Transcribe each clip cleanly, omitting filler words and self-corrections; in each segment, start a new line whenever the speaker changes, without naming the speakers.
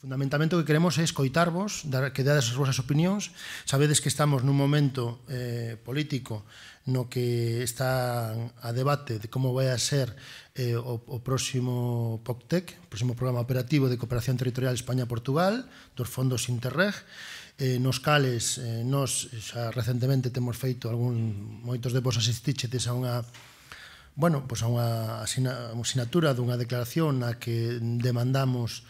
Fundamentalmente o que queremos é escoitarvos, que dades as vosas opinións. Sabedes que estamos nun momento político no que está a debate de como vai a ser o próximo POCTEC, o próximo Programa Operativo de Cooperación Territorial España-Portugal, dos fondos Interreg, nos cales nos xa recentemente temos feito moitos de vos asistichedes a unha sinatura dunha declaración na que demandamos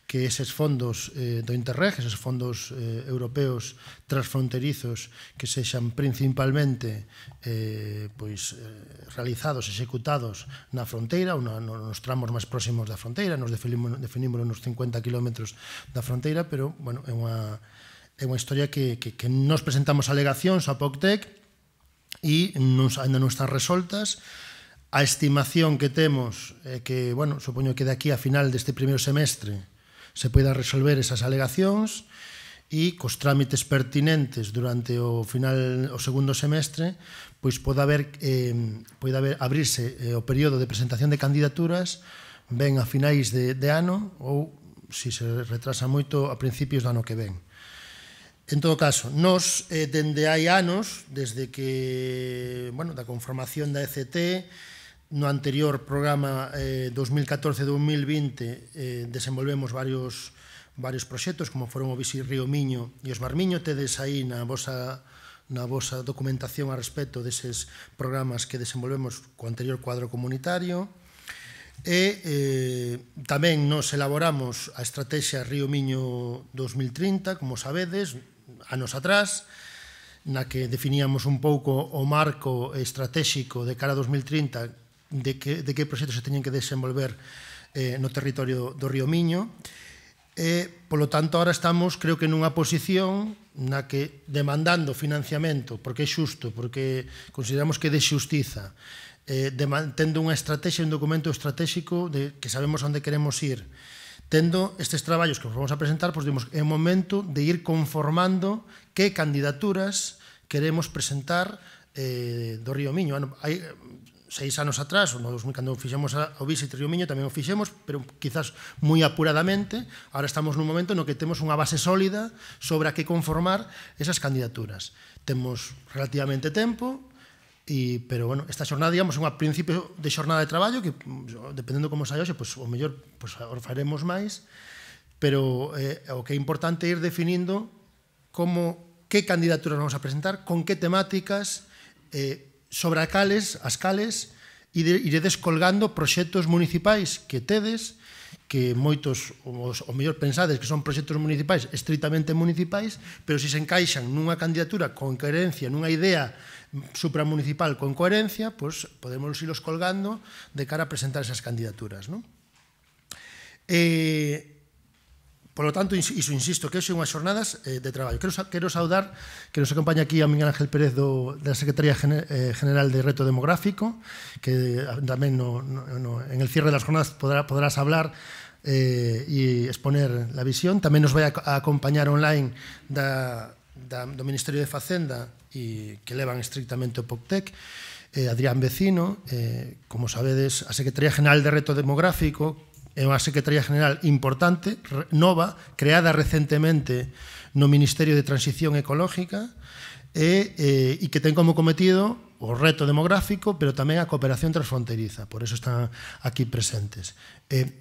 que eses fondos do Interreg, eses fondos europeos transfronterizos que sexan principalmente realizados, executados na fronteira ou nos tramos máis próximos da fronteira. Nos definimos nos 50 kilómetros da fronteira, pero é unha historia que nos presentamos alegacións a POCTEC e ainda non están resoltas. A estimación que temos é que, supoño que de aquí a final deste primeiro semestre se poida resolver esas alegacións e cos trámites pertinentes durante o segundo semestre pois poida abrirse o período de presentación de candidaturas ben a finais de ano ou, se se retrasa moito, a principios do ano que ven. En todo caso, nos, dende hai anos, desde que, da conformación da ECT, no anterior programa 2014-2020 desenvolvemos varios proxectos, como foron o Bisi Río Miño e os Mar Miño. Tedes aí na vosa documentación a respecto deses programas que desenvolvemos co anterior cuadro comunitario. E tamén nos elaboramos a Estrategia Río Miño 2030, como sabedes, anos atrás, na que definíamos un pouco o marco estratégico de cara a 2030 de que proxectos se teñen que desenvolver no territorio do Río Miño. Polo tanto, agora estamos, creo que, nunha posición na que, demandando financiamento, porque é xusto, porque consideramos que é de xustiza, tendo unha estrategia, un documento estratégico de que sabemos onde queremos ir, tendo estes traballos que vos vamos a presentar, pois dimos, é o momento de ir conformando que candidaturas queremos presentar do Río Miño. Hai 6 anos atrás, cando fixemos o Visit Río Miño, tamén o fixemos, pero quizás moi apuradamente. Agora estamos nun momento no que temos unha base sólida sobre a que conformar esas candidaturas. Temos relativamente tempo, pero, esta xornada, digamos, é un principio de xornada de traballo que, dependendo como saia hoxe, o mellor faremos máis, pero o que é importante é ir definindo que candidaturas vamos a presentar, con que temáticas, sobre as cales iredes colgando proxectos municipais que tedes, que moitos, o mellor pensades que son proxectos municipais estritamente municipais, pero se encaixan nunha candidatura con coherencia, nunha idea supramunicipal con coherencia, pois podemos irlos colgando de cara a presentar esas candidaturas. Por lo tanto, iso insisto, que son unhas xornadas de traballo. Quero saudar que nos acompaña aquí a Miguel Ángel Pérez da Secretaría General de Reto Demográfico, que tamén en el cierre das jornadas podrás hablar e exponer la visión. Tamén nos vai a acompañar online do Ministerio de Facenda e que levan estrictamente o POCTEC, Adrián Vecino. Como sabedes, a Secretaría General de Reto Demográfico é unha Secretaría General importante, nova, creada recentemente no Ministerio de Transición Ecológica e que ten como cometido o reto demográfico, pero tamén a cooperación transfronteriza. Por eso están aquí presentes.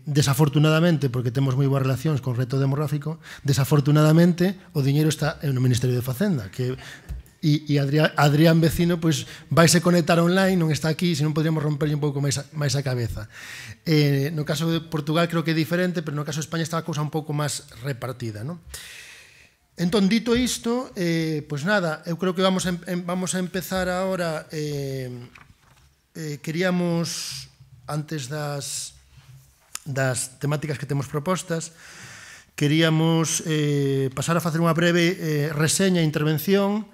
Desafortunadamente, porque temos moi boas relacións con o reto demográfico, desafortunadamente o diñeiro está no Ministerio de Facenda, que e Adrián Vecino vaise conectar online, non está aquí, senón podríamos romperlle un pouco máis a cabeza. No caso de Portugal creo que é diferente, pero no caso de España está a cousa un pouco máis repartida. Entón, dito isto, pois nada, eu creo que vamos a empezar agora. Queríamos, antes das temáticas que temos propostas, queríamos pasar a facer unha breve reseña e intervención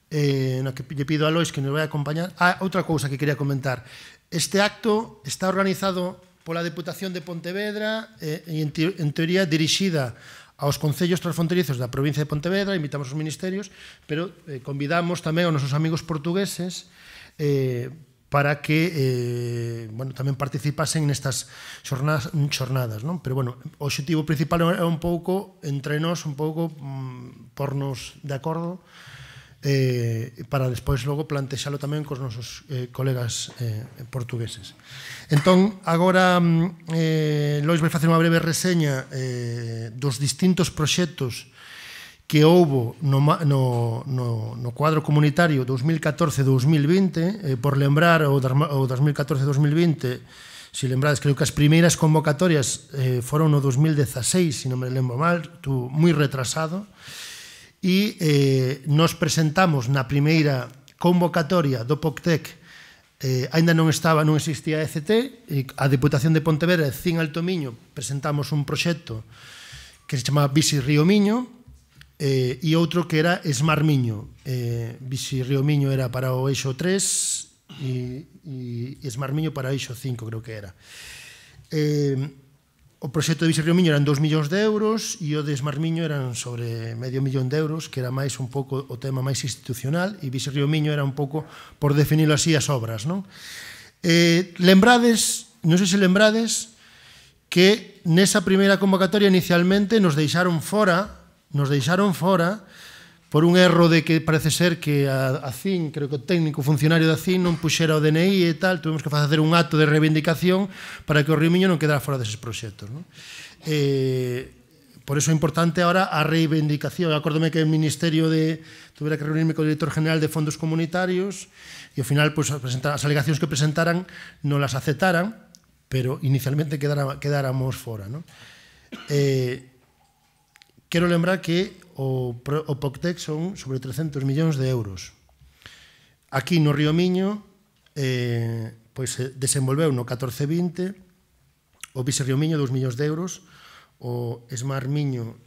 no que lle pido a Lois que nos vai acompañar. Outra cousa que quería comentar. Este acto está organizado pola Deputación de Pontevedra e en teoría dirixida aos concellos transfronterizos da provincia de Pontevedra, invitamos os ministerios, pero convidamos tamén aos nosos amigos portugueses para que tamén participasen nestas xornadas, non? Pero, bueno, o objetivo principal é un pouco, entre nós, un pouco pornos de acordo para despois logo plantexalo tamén cos nosos colegas portugueses. Entón, agora Lois vai facer unha breve reseña dos distintos proxectos que houbo no cuadro comunitario 2014-2020, por lembrar o 2014-2020, se lembrades, creo que as primeiras convocatorias foron no 2016, se non me lembro mal, estuvo moi retrasado, e nos presentamos na primeira convocatoria do POCTEC, ainda non existía a ECT, a Deputación de Pontevedra e CIN Alto Miño presentamos un proxecto que se chamaba Bici Río Miño, e outro que era Smart Miño. Bici Río Miño era para o eixo 3 e Smart Miño para o eixo 5, creo que era. O proxecto de Bici Río Miño eran 2 millóns de euros e o de Smart Miño eran sobre medio millón de euros, que era máis un pouco o tema máis institucional, e Bici Río Miño era un pouco, por definirlo así, as obras, non? Lembrades, non sei se lembrades, que nesa primeira convocatoria inicialmente nos deixaron fora por un erro de que parece ser que a CIN, creo que o técnico funcionario da CIN non puxera o DNI e tal, tuvemos que facer un acto de reivindicación para que o Río Miño non quedara fora deses proxectos, non? Por iso é importante ahora a reivindicación. Acórdome que o Ministerio tuvera que reunirme co director general de fondos comunitarios e ao final as alegacións que presentaran non las aceptaran, pero inicialmente quedáramos fora, non? Quero lembrar que o POCTEC son sobre 300 millóns de euros. Aquí no Río Miño desenvolveu no 14-20 o Bici Río Miño 2 millóns de euros, o Smart Miño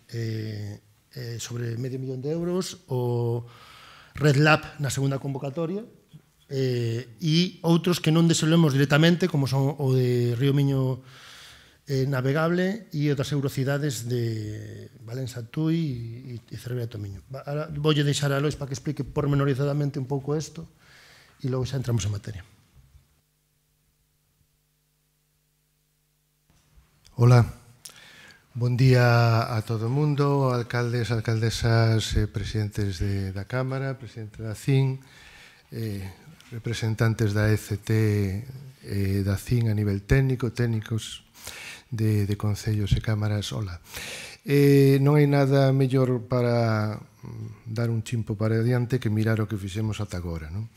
sobre medio millón de euros, o Red Lab na segunda convocatoria, e outros que non desenvolvemos directamente, como son o de Río Miño navegable e outras eurocidades de Valença Tui e Cervera Tomiño. Voulle deixar a Lois para que explique pormenorizadamente un pouco isto e logo xa entramos en materia.
Hola, bon día a todo o mundo, alcaldes, alcaldesas, presidentes da Cámara, presidente da CIN, representantes da ECT e da CIN a nivel técnico, técnicos de concellos e cámaras. Hola. Non hai nada mellor para dar un chimpo para adiante que mirar o que fixemos ata agora, non?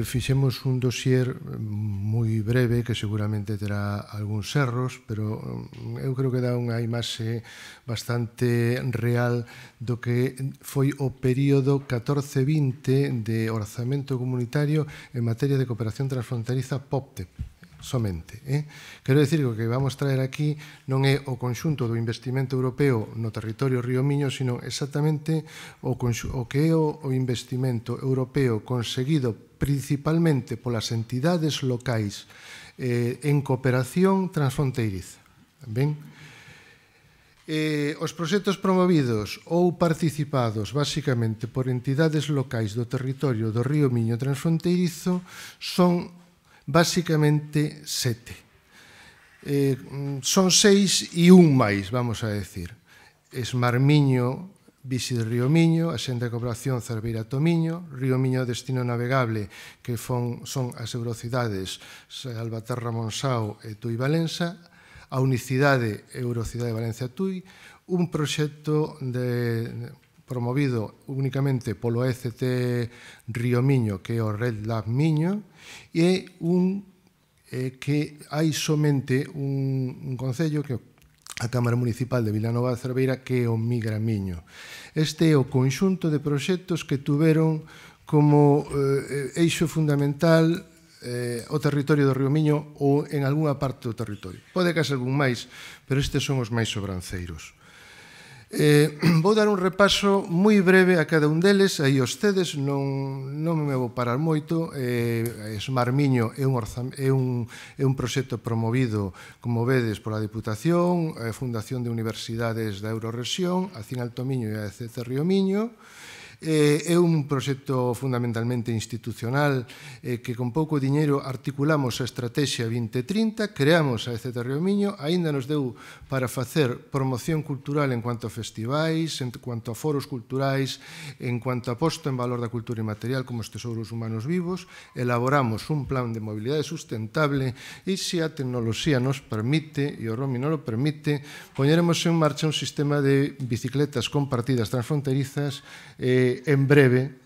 Fixemos un dossier moi breve que seguramente terá algúns erros, pero eu creo que dá unha imaxe bastante real do que foi o período 14-20 de orzamento comunitario en materia de cooperación transfronteriza POCTEC. Somente. Quero dicir que o que vamos traer aquí non é o conxunto do investimento europeo no territorio Río Miño, sino exactamente o que é o investimento europeo conseguido principalmente polas entidades locais en cooperación transfronteiriza. Ben? Os proxectos promovidos ou participados basicamente por entidades locais do territorio do Río Miño transfronteirizo son basicamente 7. Son 6 e un máis, vamos a decir. Smart Miño, Bici de Río Miño, Axenda de Cooperación Cerveira Tomiño, Río Miño Destino Navegable, que son as eurocidades Salvaterra Monsao e Tui Valença, a unicidade Eurocidade Valencia Tui, un proxecto promovido únicamente polo ECT Río Miño, que é o Red Lab Miño, e que hai somente un concello, que é a Cámara Municipal de Vilanova de Cerveira, que é o Migra Miño. Este é o conxunto de proxectos que tuveron como eixo fundamental o territorio do Río Miño ou en algunha parte do territorio. Pode que haxa algún máis, pero estes son os máis sobranceiros. Vou dar un repaso moi breve a cada un deles, aí os tedes, non me vou parar moito. Smart Miño é un proxecto promovido, como vedes, pola Diputación, a Fundación de Universidades da Eurorrexión, a CIN Alto Miño e a ECT Río Miño. É un proxecto fundamentalmente institucional que con pouco diñeiro articulamos a Estrategia 2030, creamos a ECT Río Miño, aínda nos deu para facer promoción cultural en cuanto a festivais, en cuanto a foros culturais, en cuanto a posto en valor da cultura inmaterial como os tesouros humanos vivos, elaboramos un plan de mobilidade sustentable e se a tecnoloxía nos permite, e o roaming non lo permite, poñeremos en marcha un sistema de bicicletas compartidas transfronterizas en breve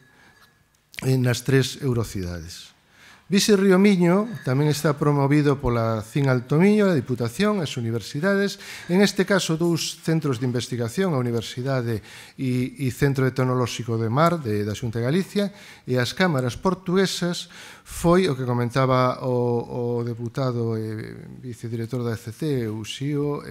nas 3 eurocidades. Bici Río Miño tamén está promovido pola CIN Alto Miño, a Diputación, as universidades, en este caso 2 centros de investigación, a Universidade e Centro Tecnolóxico de Mar da Xunta de Galicia, e as cámaras portuguesas. Foi o que comentaba o deputado e vicedirector da ECC, Uxío,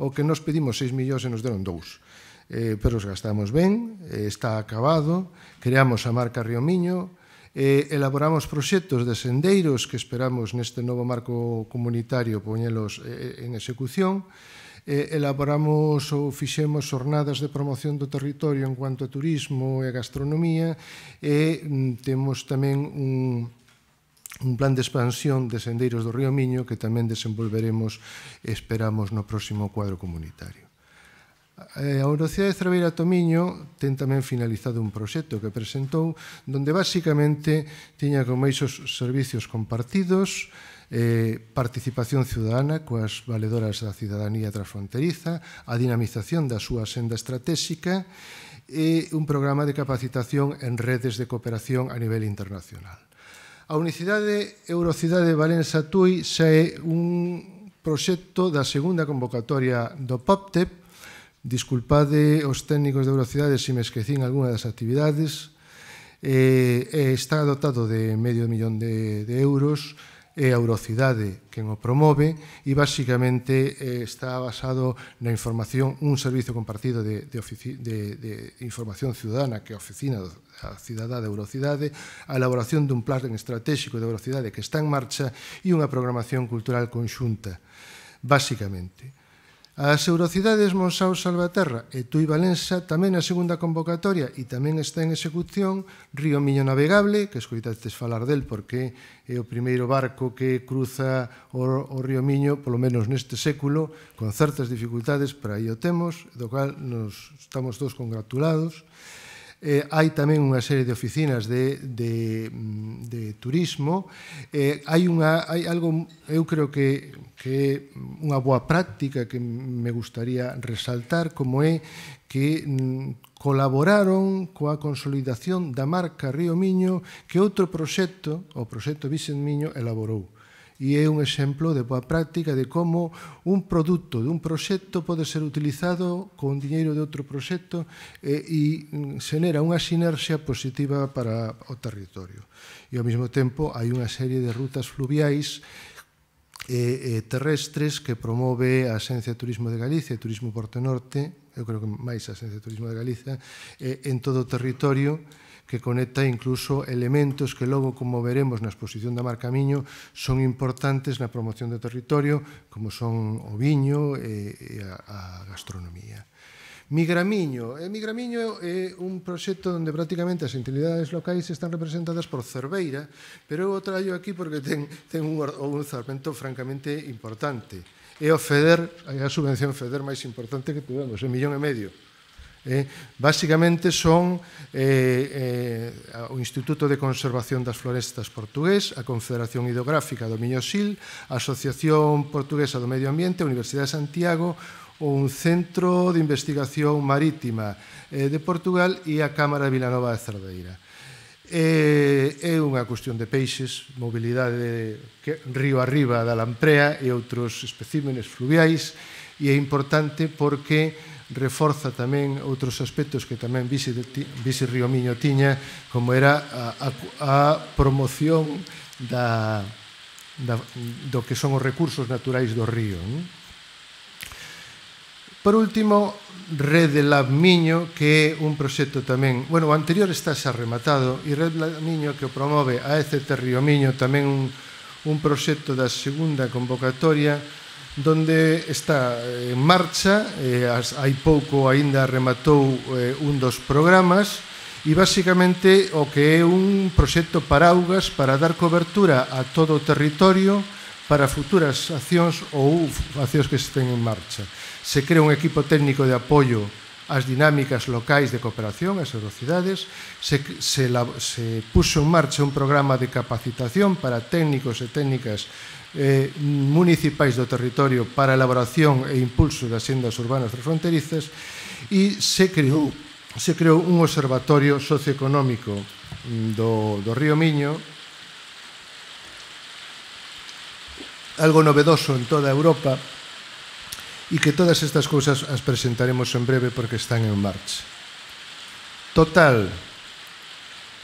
o que nos pedimos 6 millóns e nos deron 2. Pero os gastamos ben, está acabado, creamos a marca Río Miño, elaboramos proxectos de sendeiros que esperamos neste novo marco comunitario poñelos en execución, elaboramos ou fixemos xornadas de promoción do territorio en cuanto a turismo e gastronomía e temos tamén un plan de expansión de sendeiros do Río Miño que tamén desenvolveremos, esperamos, no próximo cuadro comunitario. A Universidade de Cerveira Tomiño ten tamén finalizado un proxecto que presentou donde basicamente tiña como eixos servicios compartidos, participación ciudadana coas valedoras da cidadanía transfronteriza, a dinamización da súa senda estratégica e un programa de capacitación en redes de cooperación a nivel internacional. A Unicidade Eurocidade Valença Tui xa é un proxecto da segunda convocatoria do POPTEP. Disculpade os técnicos de Eurocidade se me esquecín algunha das actividades. Está dotado de medio millón de euros, é a Eurocidade quen o promove e basicamente está basado na información, un servizo compartido de información ciudadana que é a Oficina da Cidadá de Eurocidade, a elaboración dun plan estratégico de Eurocidade que está en marcha e unha programación cultural conxunta, basicamente. As Eurocidades Monsaos Salvaterra e Tui Valença tamén a segunda convocatoria e tamén está en execución Río Miño Navegable, que escoitastes falar del porque é o primeiro barco que cruza o Río Miño, polo menos neste século, con certas dificultades, pero aí o temos, do cual nos estamos todos congratulados. Hai tamén unha serie de oficinas de turismo. Hai algo, eu creo que é unha boa práctica que me gustaría resaltar, como é que colaboraron coa consolidación da marca Río Miño que outro proxecto, o proxecto Vicent Miño, elaborou. E é un exemplo de boa práctica de como un produto dun proxecto pode ser utilizado con diñeiro de outro proxecto e xenera unha sinerxia positiva para o territorio. E ao mesmo tempo hai unha serie de rutas fluviais terrestres que promove a Axencia de Turismo de Galicia e Turismo Porto Norte, eu creo que máis a Axencia de Turismo de Galicia, en todo o territorio, que conecta incluso elementos que logo, como veremos na exposición da Marca Miño, son importantes na promoción do territorio, como son o viño e a gastronomía. Migramiño. Migramiño é un proxecto onde prácticamente as entidades locais están representadas por Cerveira, pero eu o traio aquí porque ten un orzamento francamente importante. É o FEDER, a subvención FEDER máis importante que tuvemos, $1,5 millón. Básicamente son o Instituto de Conservación das Florestas portugués, a Confederación Hidrográfica do Miño-Sil, a Asociación Portuguesa do Medio Ambiente, a Universidade de Santiago, un centro de investigación marítima de Portugal e a Cámara de Vilanova de Cerdeira. É unha cuestión de peixes, mobilidade río arriba da Lamprea e outros especímenes fluviais, e é importante porque reforza tamén outros aspectos que tamén Bici Río Miño tiña, como era a promoción do que son os recursos naturais do río. Por último, Rede Lab Miño, que é un proxecto tamén, bueno, o anterior está xa rematado, e Rede Lab Miño, que o promove a ECT Río Miño, tamén un proxecto da segunda convocatoria, donde está en marcha, hai pouco aínda rematou un dos programas, e basicamente o que é un proxecto paraugas para dar cobertura a todo o territorio para futuras accións ou accións que estén en marcha. Se crea un equipo técnico de apoio ás dinámicas locais de cooperación, ás velocidades, se puxo en marcha un programa de capacitación para técnicos e técnicas municipais do territorio para a elaboración e impulso das sendas urbanas transfronterizas e se creou un observatorio socioeconómico do Río Miño, algo novedoso en toda Europa, e que todas estas cousas as presentaremos en breve porque están en marcha. Total,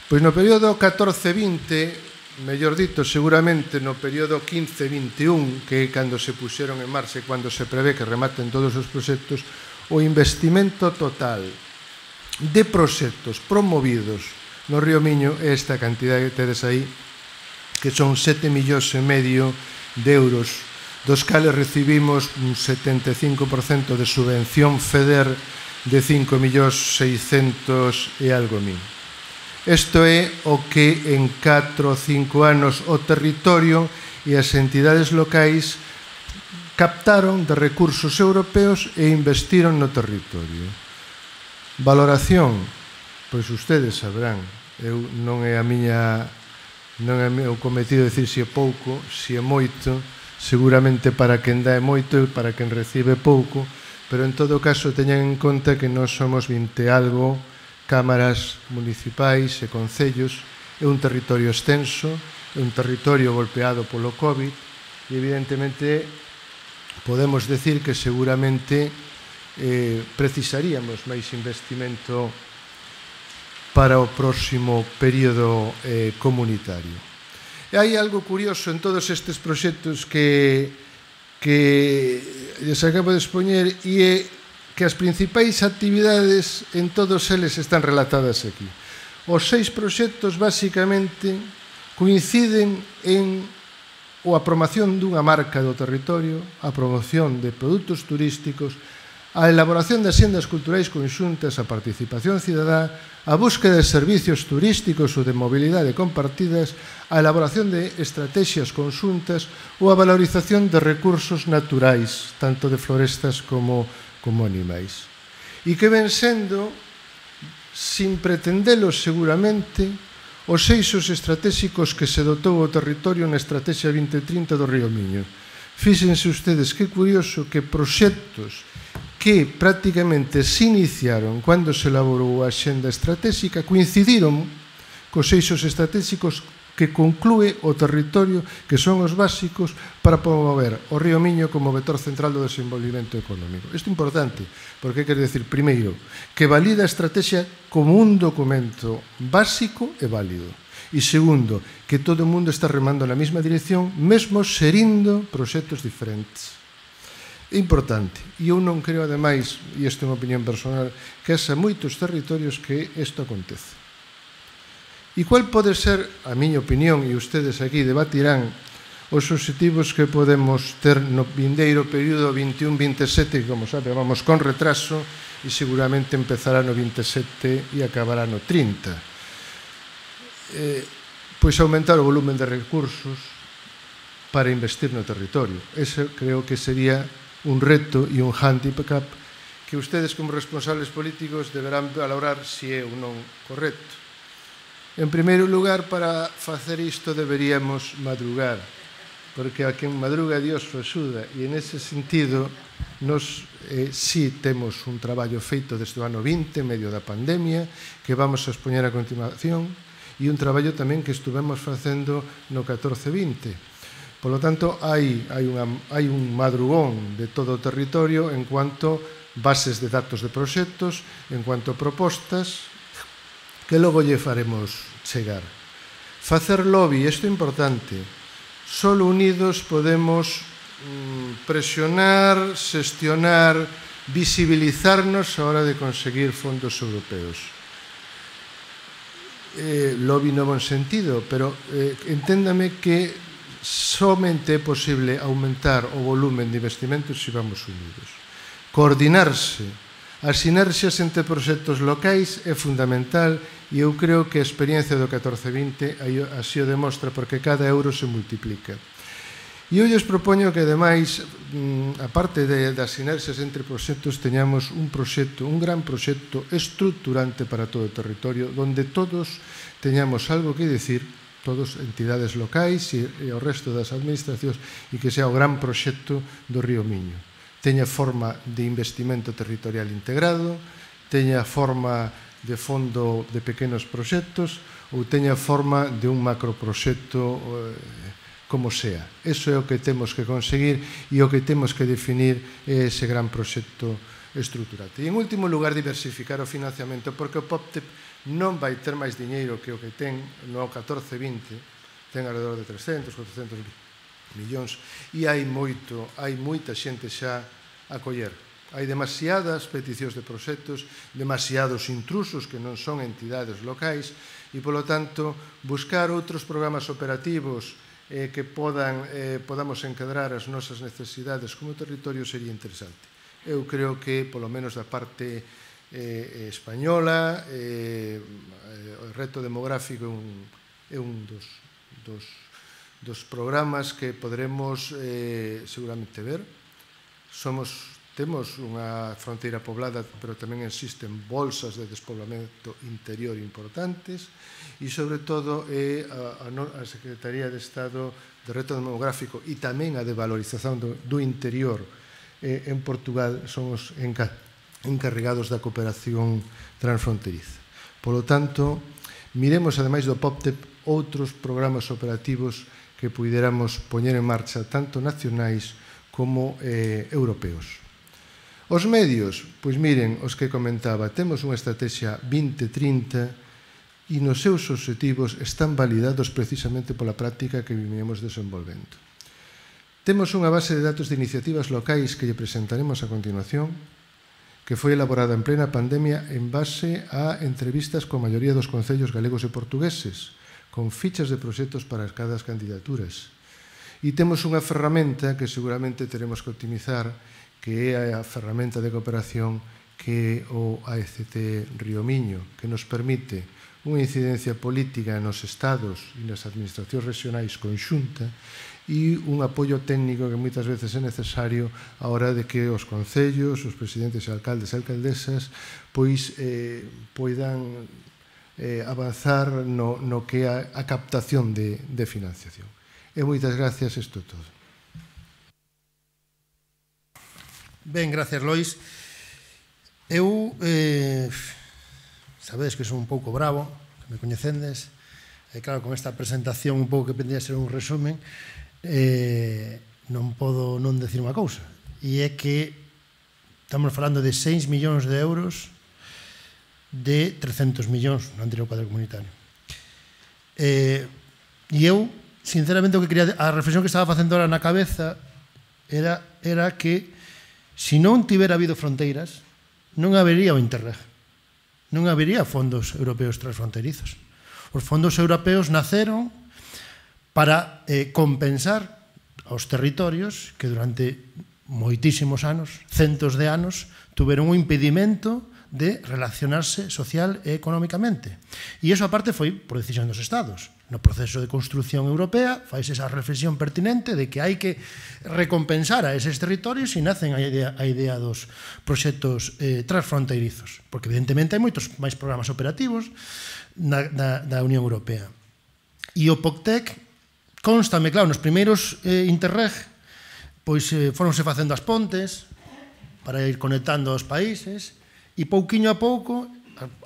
pois no período 14-20, mellor dito, seguramente no período 15-21, que é cando se puxeron en marcha e cando se prevé que rematen todos os proxectos, o investimento total de proxectos promovidos no Río Miño é esta cantidade que tedes aí, que son 7,5 millóns de euros, dos cales recibimos un 75% de subvención FEDER de 5,600,000 e algo mil. Isto é o que en 4 ou 5 anos o territorio e as entidades locais captaron de recursos europeos e investiron no territorio. Valoración, pois ustedes sabrán, non é o meu cometido decir se é pouco, se é moito. Seguramente para quen dá é moito e para quen recibe pouco, pero en todo caso teñan en conta que nós somos 20 algo cámaras municipais e concellos, é un territorio extenso, é un territorio golpeado polo COVID e evidentemente podemos decir que seguramente precisaríamos máis investimento para o próximo período comunitario. E hai algo curioso en todos estes proxectos que lles acabo de expoñer e é que as principais actividades en todos eles están relatadas aquí. Os 6 proxectos basicamente coinciden en a promoción dunha marca do territorio, a promoción de produtos turísticos, a elaboración de axendas culturais conxuntas, a participación cidadá, a búsqueda de servicios turísticos ou de mobilidade compartidas, a elaboración de estrategias conxuntas ou a valorización de recursos naturais, tanto de florestas como animais. E que ven sendo, sin pretendelos seguramente, os eixos estratégicos que se dotou o territorio na Estrategia 2030 do Río Miño. Fíxense ustedes que curioso que proxectos que prácticamente se iniciaron cando se elaborou a xenda estratégica coincidiron cos eixos estratégicos que conclúe o territorio, que son os básicos para promover o Río Miño como vector central do desenvolvemento económico. Isto é importante, porque quer decir, primeiro, que valida a estrategia como un documento básico e válido. E segundo, que todo o mundo está remando na mesma dirección, mesmo xerindo proxectos diferentes. É importante, e eu non creo, ademais, e isto é unha opinión personal, que haxa moitos territorios que isto acontece. E cual pode ser, a miña opinión, e ustedes aquí debatirán, os obxectivos que podemos ter no vindeiro período 21-27, que, como sabe, vamos con retraso, e seguramente empezará no 27 e acabará no 30. Pois aumentar o volumen de recursos para investir no territorio. Ese creo que sería un reto e un handicap que ustedes como responsables políticos deberán valorar se é ou non correcto. En primeiro lugar, para facer isto deberíamos madrugar, porque a quen madruga Dios o axuda, e nese sentido nos si temos un traballo feito desde o ano 20, medio da pandemia, que vamos a expoñer a continuación, e un traballo tamén que estuvemos facendo no 14-20. Por lo tanto, hai un madrugón de todo o territorio en cuanto bases de datos de proxectos, en cuanto a propostas, que logo lle faremos chegar. Facer lobby, isto é importante. Solo unidos podemos presionar, xestionar, visibilizarnos a hora de conseguir fondos europeos. Lobby no bon sentido, pero enténdame que somente é posible aumentar o volumen de investimentos se vamos unidos. Coordinarse As sinerxias entre proxectos locais é fundamental e eu creo que a experiencia do 14-20 así o demostra porque cada euro se multiplica. E eu lles propoño que, ademais, aparte das sinerxias entre proxectos, teñamos un gran proxecto estructurante para todo o territorio, onde todos teñamos algo que dicir, todos entidades locais e o resto das administracións, e que sea o gran proxecto do Río Miño. Teña forma de investimento territorial integrado, teña forma de fondo de pequenos proxectos ou teña forma de un macroproxecto como sea. Eso é o que temos que conseguir e o que temos que definir é ese gran proxecto estruturante. E en último lugar, diversificar o financiamento, porque o POPTEP non vai ter máis diñeiro que o que ten no 14-20, ten alrededor de 300, 400 millóns, e hai moita xente xa a coller. Hai demasiadas peticións de proxectos, demasiados intrusos que non son entidades locais, e, polo tanto, buscar outros programas operativos que podamos encadrar as nosas necesidades como territorio sería interesante. Eu creo que, polo menos da parte española, o reto demográfico é un dos programas que poderemos seguramente ver. Temos unha fronteira poblada, pero tamén existen bolsas de despoblamento interior importantes e, sobre todo, a Secretaría de Estado de Reto Demográfico e tamén a de valorización do interior en Portugal son os encarregados da cooperación transfronteriza. Polo tanto, miremos, ademais do POPTEP, outros programas operativos que puidéramos poñer en marcha, tanto nacionais como europeos. Os medios, pois miren, os que comentaba, temos unha estrategia 2030 e nos seus obxectivos están validados precisamente pola práctica que vimos desenvolvendo. Temos unha base de datos de iniciativas locais que lle presentaremos a continuación, que foi elaborada en plena pandemia en base a entrevistas coa maioría dos concellos galegos e portugueses, con fichas de proxectos para cada candidaturas. E temos unha ferramenta que seguramente teremos que optimizar, que é a ferramenta de cooperación que é o AECT Río Miño, que nos permite unha incidencia política nos estados e nas administracións regionais conxunta e un apoio técnico que moitas veces é necesario a hora de que os concellos, os presidentes e alcaldes e alcaldesas pois poidan avanzar no que é a captación de financiación. E moitas gracias, isto é todo.
Ben, gracias, Lois. Eu, sabedes que son un pouco bravo, que me coñecendes, e claro, con esta presentación un pouco que pendía ser un resumen, non podo non decir unha cousa, e é que estamos falando de 6 millóns de euros de 300 millóns no anterior cuadro comunitario. E eu, sinceramente, a reflexión que estaba facendo ahora na cabeza era que se non tivera habido fronteiras, non habería o Interreg, non habería fondos europeos transfronterizos. Os fondos europeos naceron para compensar aos territorios que durante moitísimos anos, centos de anos, tuveron un impedimento de relacionarse social e económicamente. E iso, aparte, foi por decisión dos Estados. No proceso de construción europea faise esa reflexión pertinente de que hai que recompensar a eses territorios e nacen a idea dos proxectos transfronteirizos, porque evidentemente hai moitos máis programas operativos da Unión Europea. E o POCTEC constame, claro, nos primeiros Interreg pois foronse facendo as pontes para ir conectando os países e pouquiño a pouco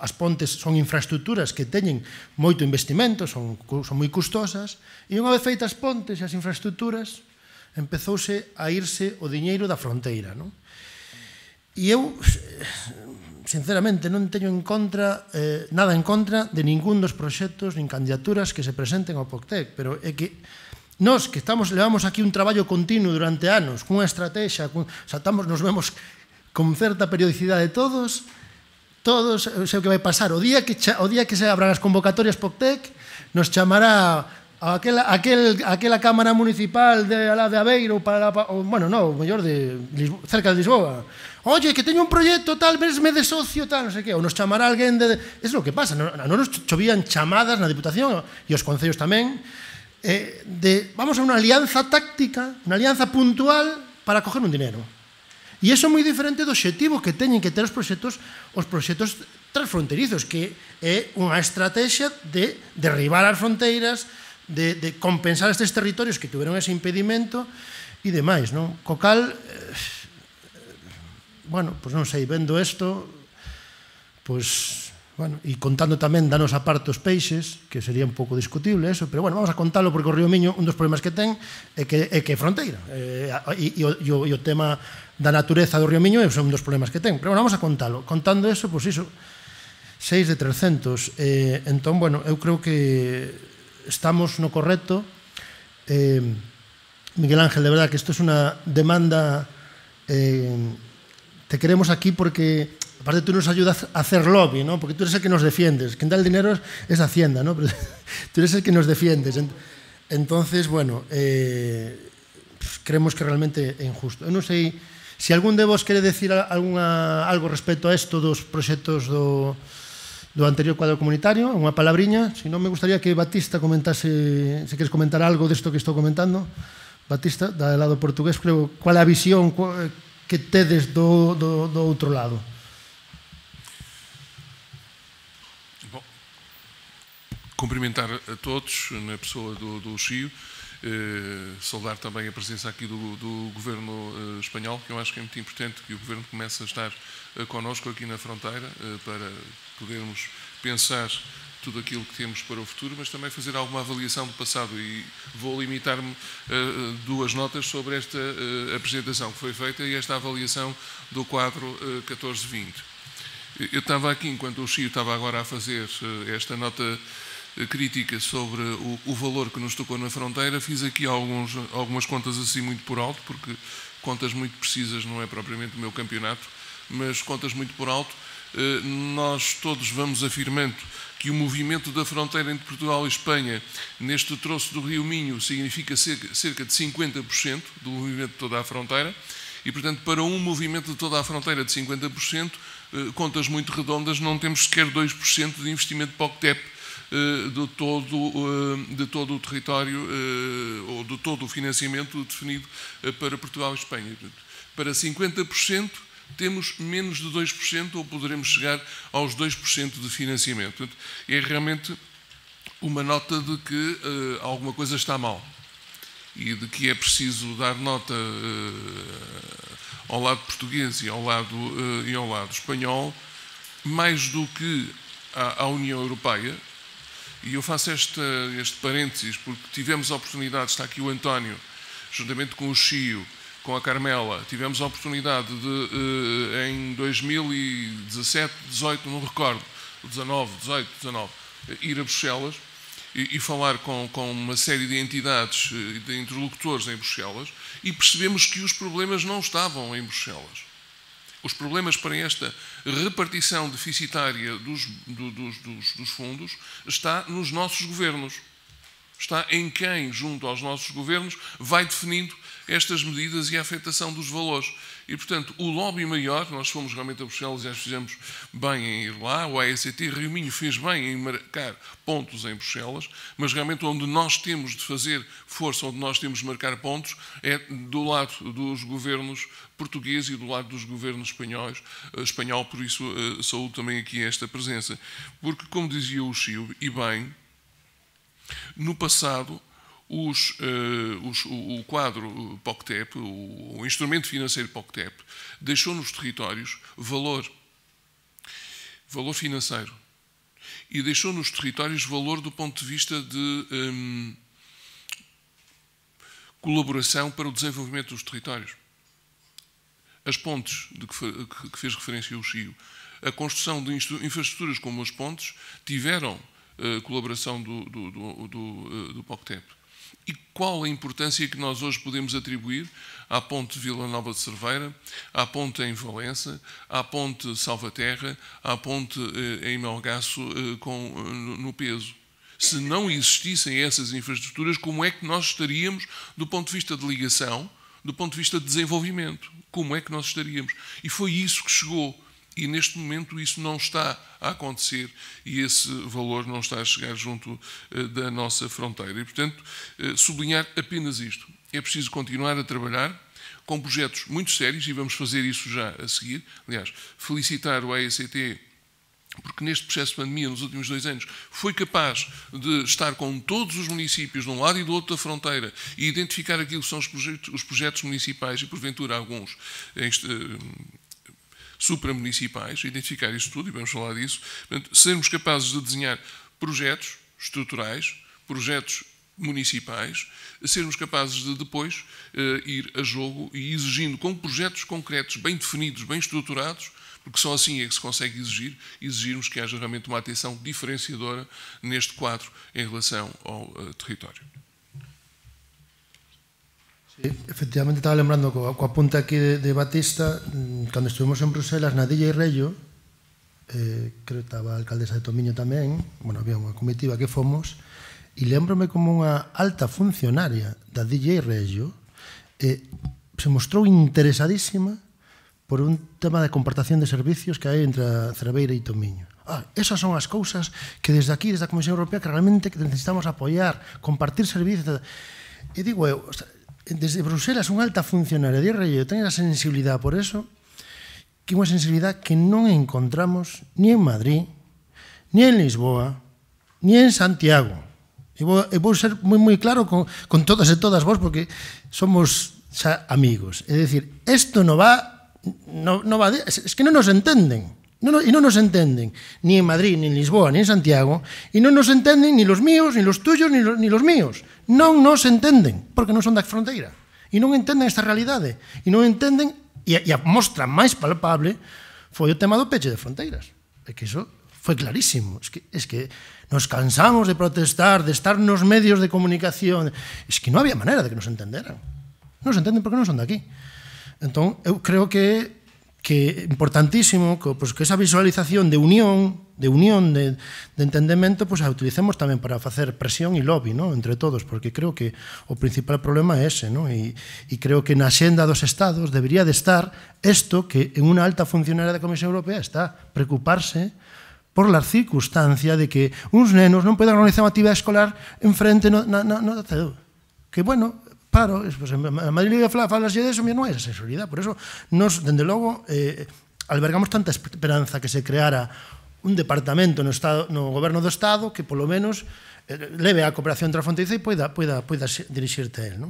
as pontes son infraestructuras que teñen moito investimento, son moi custosas, e unha vez feitas as pontes e as infraestructuras, empezouse a irse o diñeiro da fronteira. E eu, sinceramente, non teño nada en contra de ningún dos proxectos nin candidaturas que se presenten ao POCTEC, pero é que nós, que levamos aquí un traballo continuo durante anos, cunha estrategia, nos vemos con certa periodicidade todos, sei o que vai pasar. O día que se abran as convocatorias POCTEC, nos chamará aquela Cámara Municipal de Aveiro, bueno, non, mellor cerca de Lisboa. Oye, que teño un proxecto tal, vesme de socio, tal, non sei que, ou nos chamará alguén de... É o que pasa, non nos chovían chamadas na Diputación e os concellos tamén, vamos a unha alianza táctica, unha alianza puntual para coger un dinero. E iso é moi diferente do obxectivo que teñen que ter os proxectos transfronterizos, que é unha estrategia de derribar as fronteiras, de compensar estes territorios que tuveron ese impedimento e demais, non? Co cal, bueno, pois non sei, vendo isto, pois, bueno, e contando tamén da nosa parte os peixes, que sería un pouco discutible eso, pero bueno, vamos a contalo porque o río Miño, un dos problemas que ten é que é fronteira, e o tema da natureza do río Miño é un dos problemas que ten, pero bueno, vamos a contalo. Contando eso, pois iso, 6 de 300. Entón, bueno, eu creo que estamos no correcto. Miguel Ángel, de verdad que isto é unha demanda, te queremos aquí porque aparte tú nos ayudas a hacer lobby, ¿no? Porque tú eres el que nos defiendes, quien da el dinero es Hacienda, ¿no? Pero tú eres el que nos defiendes. Entonces, bueno, creemos que realmente é injusto. Eu non sei se algún de vos quere decir algo respecto a isto dos proxectos do anterior cuadro comunitario, unha palabriña. Se non, me gustaría que Batista comentase, se queres comentar algo desto que estou comentando. Batista, da lado portugués, creo, cual é a visión que tedes do outro lado?
Bom, cumprimentar a todos na pessoa do Chio, saudar também a presença aqui do Governo espanhol, que eu acho que é muito importante que o Governo comece a estar connosco aqui na fronteira, para podermos pensar tudo aquilo que temos para o futuro, mas também fazer alguma avaliação do passado, e vou limitar-me a duas notas sobre esta apresentação que foi feita e esta avaliação do quadro 14-20. Eu estava aqui, enquanto o Chio estava agora a fazer esta nota crítica sobre o valor que nos tocou na fronteira, fiz aqui algumas contas assim muito por alto, porque contas muito precisas não é propriamente o meu campeonato, mas contas muito por alto. Nós todos vamos afirmando que o movimento da fronteira entre Portugal e Espanha, neste troço do Rio Minho, significa cerca de 50% do movimento de toda a fronteira, e, portanto, para um movimento de toda a fronteira de 50%, contas muito redondas, não temos sequer 2% de investimento POCTEP de todo o território, ou de todo o financiamento definido para Portugal e Espanha. Para 50%, temos menos de 2%, ou poderemos chegar aos 2% de financiamento. Portanto, é realmente uma nota de que alguma coisa está mal e de que é preciso dar nota ao lado português e ao lado espanhol, mais do que à União Europeia. E eu faço este parênteses porque tivemos a oportunidade, está aqui o António, juntamente com o Chio, com a Carmela, tivemos a oportunidade de, em 2017, 18, não recordo, 19, ir a Bruxelas e falar com uma série de entidades, de interlocutores em Bruxelas, e percebemos que os problemas não estavam em Bruxelas. Os problemas para esta repartição deficitária dos fundos está nos nossos governos. Está em quem, junto aos nossos governos, vai definindo estas medidas e a afetação dos valores. E, portanto, o lobby maior, nós fomos realmente a Bruxelas e acho que fizemos bem em ir lá, o AECT Rio Minho fez bem em marcar pontos em Bruxelas, mas realmente onde nós temos de fazer força, onde nós temos de marcar pontos, é do lado dos governos portugueses e do lado dos governos espanhol, por isso saúdo também aqui esta presença. Porque, como dizia o Chio, e bem, no passado, o quadro POCTEP, o instrumento financeiro POCTEP, deixou nos territórios valor financeiro, e deixou nos territórios valor do ponto de vista de colaboração para o desenvolvimento dos territórios. As pontes de que fez referência o Chio, a construção de infraestruturas como as pontes, tiveram colaboração do POCTEP. E qual a importância que nós hoje podemos atribuir à ponte de Vila Nova de Cerveira, à ponte em Valença, à ponte Salvaterra, à ponte em Melgaço no peso? Se não existissem essas infraestruturas, como é que nós estaríamos do ponto de vista de ligação, do ponto de vista de desenvolvimento? Como é que nós estaríamos? E foi isso que chegou. E neste momento isso não está a acontecer e esse valor não está a chegar junto da nossa fronteira. E, portanto, sublinhar apenas isto. É preciso continuar a trabalhar com projetos muito sérios e vamos fazer isso já a seguir. Aliás, felicitar o AECT porque neste processo de pandemia, nos últimos 2 anos, foi capaz de estar com todos os municípios de um lado e do outro da fronteira e identificar aquilo que são os projetos municipais e, porventura, alguns supramunicipais, identificar isso tudo, e vamos falar disso. Portanto, sermos capazes de desenhar projetos estruturais, projetos municipais, sermos capazes de depois ir a jogo e exigindo com projetos concretos, bem definidos, bem estruturados, porque só assim é que se consegue exigirmos que haja realmente uma atenção diferenciadora neste quadro em relação ao território.
Sí, efectivamente, estaba lembrando coa punta aquí de Batista, cando estuvimos en Bruselas na DJ Rello, creo que estaba a alcaldesa de Tomiño tamén, bueno, había unha comitiva que fomos, e lembrome como unha alta funcionaria da DJ Rello se mostrou interesadísima por un tema de compartación de servicios que hai entre a Cerveira e Tomiño. Esas son as cousas que desde aquí, desde a Comisión Europea, que realmente necesitamos apoiar, compartir servicios. E digo eu, desde Bruselas, unha alta funcionaria de Rello ten a sensibilidade por eso, que é unha sensibilidade que non encontramos ni en Madrid, ni en Lisboa, ni en Santiago. E vou ser moi claro con todas e todas vos, porque somos xa amigos. É dicir, isto non va... es que non nos entenden, e non nos entenden ni en Madrid, ni en Lisboa, ni en Santiago, e non nos entenden ni los míos, ni los tuyos, ni los míos. Non nos entenden, porque non son da fronteira, e non entenden esta realidade, e non entenden, e a mostra máis palpable foi o tema do peche de fronteiras. É que iso foi clarísimo. Es que nos cansamos de protestar, de estar nos medios de comunicación. Es que non había maneira de que nos entenderan. Non se entenden porque non son de aquí. Entón, eu creo que é importantísimo que esa visualización de unión, de entendemento, a utilicemos tamén para facer presión e lobby entre todos, porque creo que o principal problema é ese, e creo que na xenda dos Estados debería de estar isto que en unha alta funcionaria da Comisión Europea está preocuparse por la circunstancia de que uns nenos non poden organizar unha actividade escolar enfrente da CEDU. Que, bueno... Claro, a Madrid falas de eso, non é esa seguridade. Por eso, nos, dende logo, albergamos tanta esperanza que se creara un departamento no goberno do Estado que, polo menos, leve a cooperación transfronteriza e poida dirixirte a él.